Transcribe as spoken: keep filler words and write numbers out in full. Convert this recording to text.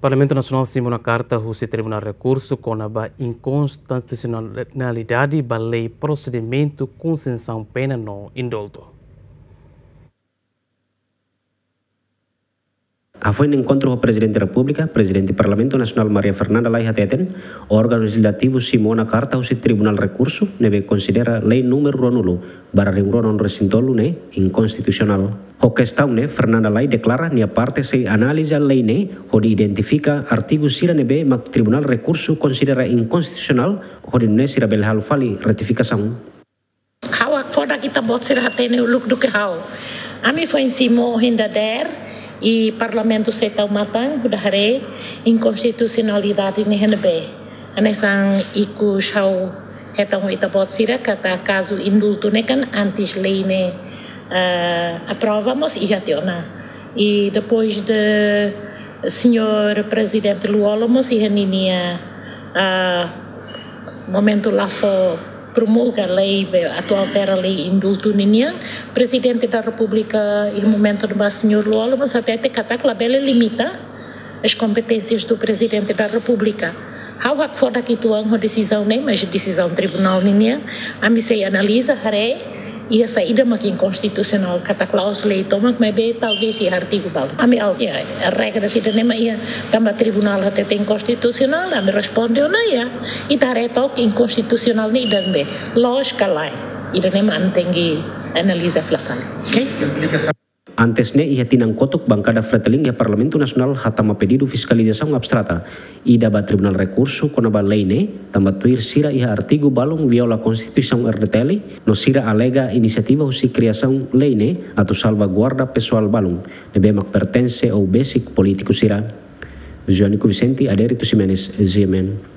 Parlamentu Nasionál simu ona karta husi Tribunál Rekursu kona-ba inkonstitusionalidade ba lei prosedimentu konsesaun pena no indultu. Hafoin enkontru ho Prezidente Repúblika, Prezidente Parlamentu Nasionál Maria Fernanda Lay hateten, órgaun lejizlativu simu ona karta husi Tribunál Rekursu ne'ebé konsidera lei númeru ruanulu barra rihun rua ruanulu resin tolu ne'e inkonstitusionál. Ho kestaun ne'e, Fernanda Lay deklara nia parte sei analiza lei ne'e hodi identifika artigu sira ne'ebé mak Tribunál Rekursu konsidera inkonstitusionál hodi nune'e sira bele halo fali retifikasaun. Ha'u hakfodak ita-boot sira hatene uluk duké ha'u. Ami foin simu ohin dadeer, i Parlamentu sei tau matan hodi haree inkonstitusionalidade ne'e iha ne'ebé. Hanesan ikus ha'u hetan ho ita-boot sira katak kazu indultu ne'e kan antes lei ne'e, eh, aprova mós iha tiha ona. I depois de señór Prezidente Lú-Olo mós iha ninia, ah, momentu la fó promulga lei be atu altera lei indultu ninian, Prezidente da Repúblika iha momentu ne'ebá señór Lú-Olo mós hatete katak labele limita as competências do Presidente da República. Ha'u hakfodak uitoan ho desizaun ne'e, mas desizaun tribunál ninian, ami sei analiza, haree, iha saida mak inkonstitusionál, katak la'ós lei tomak, maibé talvés iha artigu balu. Ami halo, iha regra sira-ne'e mak iha, tanba tribunál hatete inkonstitusionál, ami responde ona iha. Ita haree took inkonstitusionál ne'e ida-ne'ebé, loos ka lae. Ida-ne'e mak ami tenke analiza fila fali. Oke? Antes ne'e, iha tinan kotuk, bankada Fretilin iha Parlamentu Nasionál hatama pedidu fiskalizasaun abstrata ida ba Tribunál Rekursu kona-ba lei ne'e, tanba tuir sira iha artigu balun viola Konstituisaun R D T L, no sira alega inisiativa husi kriasaun lei ne'e atu salvaguarda pesoál balun ne'ebé mak pertense ou besik polítiku sira. Joanico Vicente, Adérito Ximenes, G M N.